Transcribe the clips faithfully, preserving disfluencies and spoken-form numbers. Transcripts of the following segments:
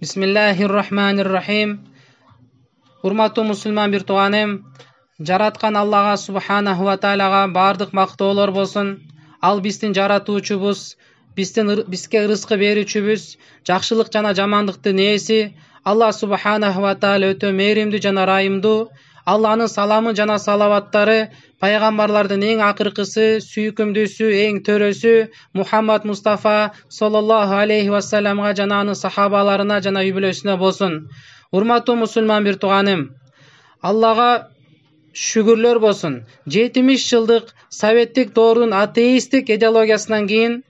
Бисмиллахир-рахманир-рахим. Урматтуу мусулман бир тууганым, жараткан Аллага субханаху ва таалага бардык мактоолор болсун. Ал биздин жаратуучубуз, биздин бизге рызкы берүүчүбүз, жакшылык жана жамандыктын ээси. Алла субханаху ва таала өтө мээримдүү жана райымдуу. Алланын саламы жана салаваттары пайгамбарлардын эң акыркысы, сүйкүмдүүсү, эң төрөсү Мухаммад Мустафа саллаллаху алейхи ва салламга жана анын сахабаларына жана үй бүлөсүнө болсун. Урматтуу мусулман бир тууганым, Аллага шүгүрлөр болсун. жетимиш жылдык советтик доордун атеисттик идеологиясынан кийин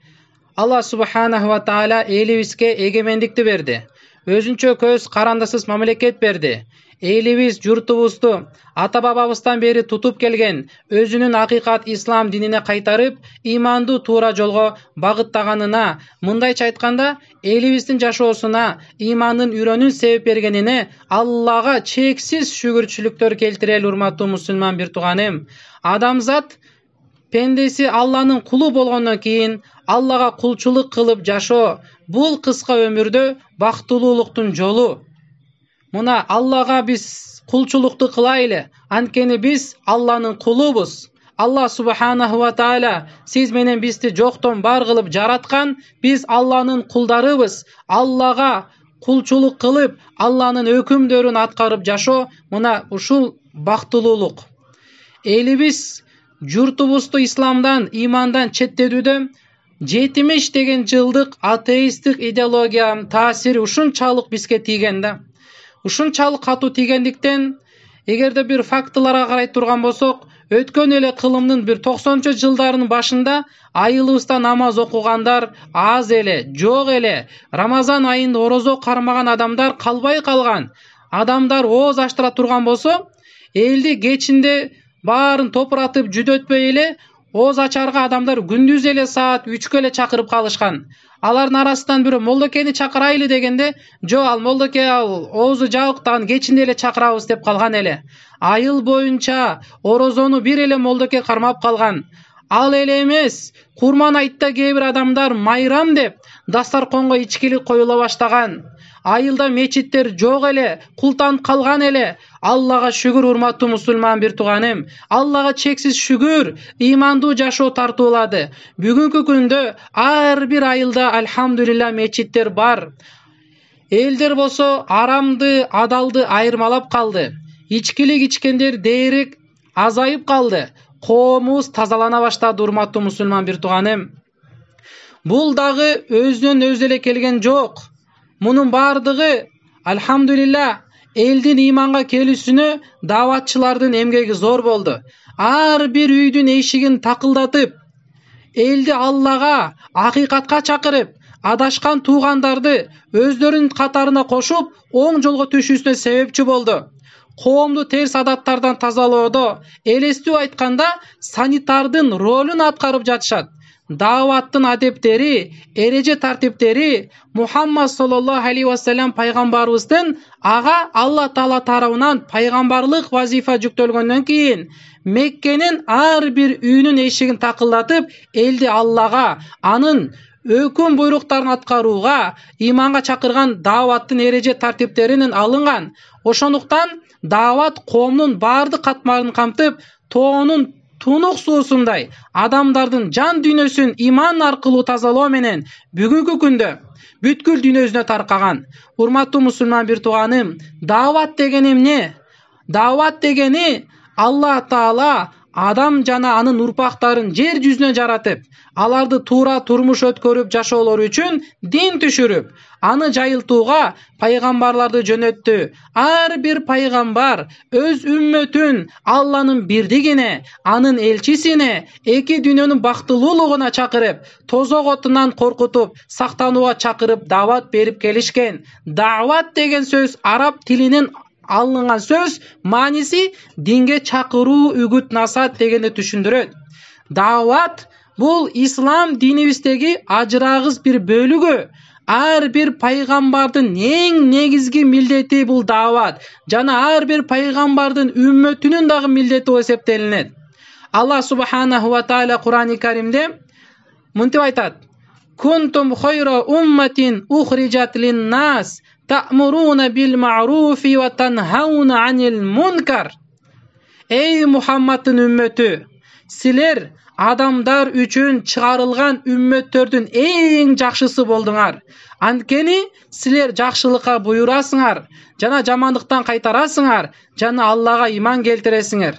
Алла субханаху ва таала элибизге эгемендикти берди. Өзүнчө көз карандысыз мамлекет берди. Элибиз журтубузду ата бабабыздан бери тутуп келген өзүнүн акыйкат ислам динине кайтарып, имандуу туура жолго багыттаганына, мындайча айтканда, элибиздин жашоосуна имандын үйрөнүүн себеп бергенине Аллага чексиз шүгүрчүлүктөр келтирели. Урматтуу мусулман бир тууганым, адамзат пендеси Алланын кулу болгондон кийин Аллага кулчулук кылып жашоо бул кыска өмүрдө бактылуулуктун жолу. Мына Аллага биз кулчулукту кылайлы, анткени биз Алланын кулубуз. Алла субханаху ва таала сиз менен бизди жоктон бар кылып жараткан, биз Алланын кулдарыбыз. Аллага кулчулук кылып, Алланын өкүмдөрүн аткарып жашоо мына ушул бактылуулук. Элибиз журтубузду исламдан, имандан четтетүүдө жетимиш деген жылдык атеисттик идеологиянын таасири ушунчалык бизге тийген да. Ушунчалык катуу тийгендиктен, эгерде бир фактыларга карай турган болсок, өткөн эле кылымдын бир токсонунчу жылдарынын башында айылыбызда намаз окугандар аз эле, жок эле. Рамазан айында орозо кармаган адамдар калбай калган. Адамдар ооз аштыра турган болсо, элди кечинде баарын топуратып жүдөтпөй эле ооз ачарга адамдар күндүз эле саат үчкө эле чакырып калышкан. Алардын арасынан бирөө молдокени чакырайлы дегенде, жок, ал молдоке ал оозу жабык дагы кечинде эле чакырабыз деп калган эле. Айыл боюнча орозону бир эле молдоке кармап калган. Ал эле эмес, Курман айтта кээ бир адамдар майрам деп дастарконго ичкилик коюла баштаган. Айылда мечиттер жок эле, култанып калган эле. Аллага шүгүр, урматтуу мусулман бир тууганым. Аллага чексиз шүгүр, имандуу жашоо тартуулады. Бүгүнкү күндө ар бир айылда альхамдулилла мечиттер бар. Элдер болсо арамды, адалды айырмалап калды. Ичкилик ичкендер дээрлик азайып калды. Коомубуз тазалана баштады, урматтуу мусулман бир тууганым. Бул дагы өзүнөн өзү эле келген жок. Мунун бардыгы альхамдулилла элдин иманга келүүсүнө дааватчылардын эмгеги зор болду. Ар бир үйдүн эшигин такылдатып, элди Аллага, акыйкатка чакырып, адашкан туугандарды өздөрүнүн катарына кошуп, оң жолго түшүүсүнө себепчи болду. Коомду терс адаттардан тазалоодо, элестүү айтканда, санитардын ролун аткарып жатышат. Дааваттын адептери, эреже тартиптери Мухаммад саллаллаху алейхи ва саллям пайгамбарыбыздын ага Алла таала тарабынан пайгамбарлык вазифа жүктөлгөндөн кийин Меккенин ар бир үйүнүн эшигин такылдатып, элди Аллага, анын өкүм буйруктарын аткарууга, иманга чакырган дааваттын эреже тартиптеринен алынган. Ошондуктан даават коомдун бардык катмарын камтып, тоонун тунук суусундай адамдардын жан дүйнөсүн иман аркылуу тазалоо менен бүгүнкү күндө бүткүл дүйнө жүзүнө таркаган. Урматтуу мусулман бир тууганым, даават деген эмне? Даават дегени Алла таала адам жана анын урпактарын жер жүзүнө жаратып, аларды туура турмуш өткөрүп жашоолору үчүн дин түшүрүп, аны жайылтууга пайгамбарларды жөнөттү. Ар бир пайгамбар өз үммөтүн Алланын бирдигине, анын элчисине, эки дүйнөнүн бактылуулугуна чакырып, тозок отунан коркутуп, сактанууга чакырып даават берип келишкен. Даават деген сөз араб тилинен алынган сөз, мааниси динге чакыруу, үгүт насаат дегенди түшүндүрөт. Даават бул ислам динибиздеги ажырагыс бир бөлүгү. Ар бир пайгамбардын эң негизги милдети бул даават жана ар бир пайгамбардын үммөтүнүн дагы милдети болуп эсептелинет. Алла субханаху ва таала Кур'ани Каримде мынтип айтат: Kuntum khayra ummatin ukhrijat lin-nas ta'muruna bil ma'rufi wa tanhauna 'anil munkar. Ey Muhammadдын үммөтү, силер адамдар үчүн чыгарылган үммөттөрдүн эң жакшысы болдуңар. Анткени силер жакшылыкка буйрасыңар жана жамандыктан кайтарасыңар жана Аллага иман келтиресиңер.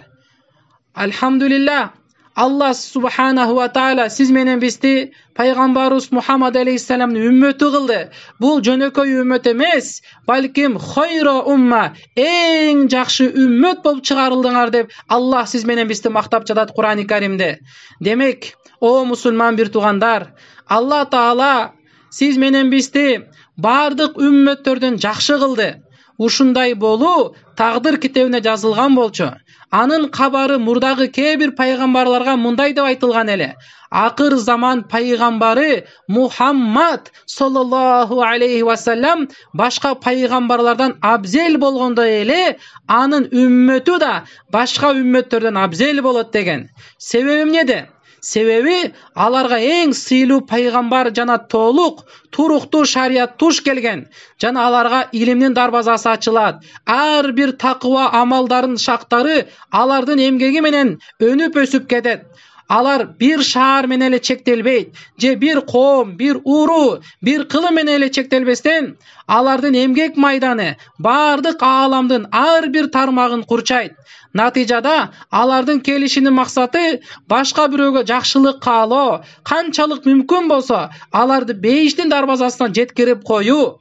Алхамдулилlah, Аллах субханаху ва таала сиз менен бизди пайгамбарыбыз Мухаммад алейхиссаламдын үммөтү кылды. Бул жөнөкөй үммөт эмес, балким хойро умма, эң жакшы үммөт болуп чыгарылдыңар деп Аллах сиз менен бизди мактап жатат Кур'ани Каримде. Демек, о мусулман бир туугандар, Аллах таала сиз менен бизди бардык үммөттөрдөн жакшы кылды. Ушундай болуу тагдыр китебине жазылган болчу. Анын кабары мурдагы кээ бир пайгамбарларга мындай деп айтылган эле: акыр заман пайгамбары Мухаммад саллаллаху алейхи ва саллам башка пайгамбарлардан абзел болгондой эле анын үммөтү да башка үммөттөрдөн абзел болот деген. Себеби эмнеде? Себеби аларга эң сыйлуу пайгамбар жана толук туруктуу шарият туш келген жана аларга илимдин дарбазасы ачылат. Ар бир такыба амалдарын шактары алардын эмгеги менен өнүп өсүп кетет. Алар бир шаар менен эле чектелбейт, же бир коом, бир уруу, бир кылым менен эле чектелбестен, алардын эмгек майданы бардык ааламдын ар бир тармагын курчайт. Натыйжада алардын келишинин максаты башка бирөөгө жакшылык каалоо, канчалык мүмкүн болсо аларды бейиштин дарбазасына жеткирип коюу.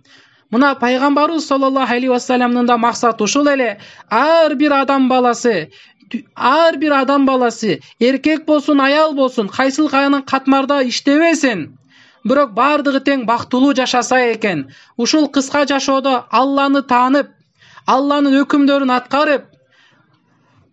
Мына пайгамбарыбыз саллаллаху алейхи ва салламдын да максаты ушул эле. Ар бир адам баласы Ар бир адам баласы, эркек болсун, аял болсун, кайсыл кайнын катмарда иштебесин, бирок бардыгы тең бактылуу жашаса экен. Ушул кыска жашоодо Алланы таанып, Алланын өкүмдөрүн аткарып,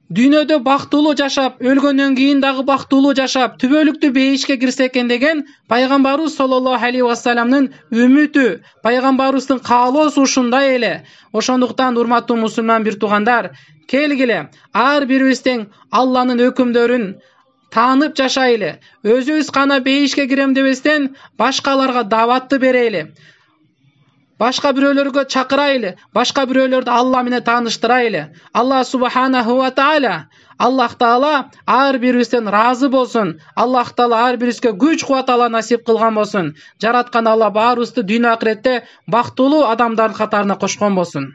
дүйнөдө бактылуу жашап, өлгөндөн кийин дагы бактылуу жашап, түбөлүктүү бейишке кирсе экен деген пайгамбарыбыз саллаллаху алейхи ва салламдын үмүтү, пайгамбарыбыздын каалоосу ушундай эле. Ошондуктан урматтуу мусулман бир туугандар, келгиле ар бирибиз тең Алланын өкүмдөрүн таанып жашайлы. Өзүбүз гана бейишке кирем дебестен башкаларга дааватты берели. Башка бирөөлөргө чакырайлы, башка бирөөлөрдү Алла менен тааныштырайлы. Аллах субханаху ва таала, Аллах таала ар бирибизден разы болсун. Аллах таала ар бирибизге күч кубат ала насип кылган болсун. Жараткан Алла баарыбызды дүйнө акыретте бактылуу адамдардын катарына кошкон болсун.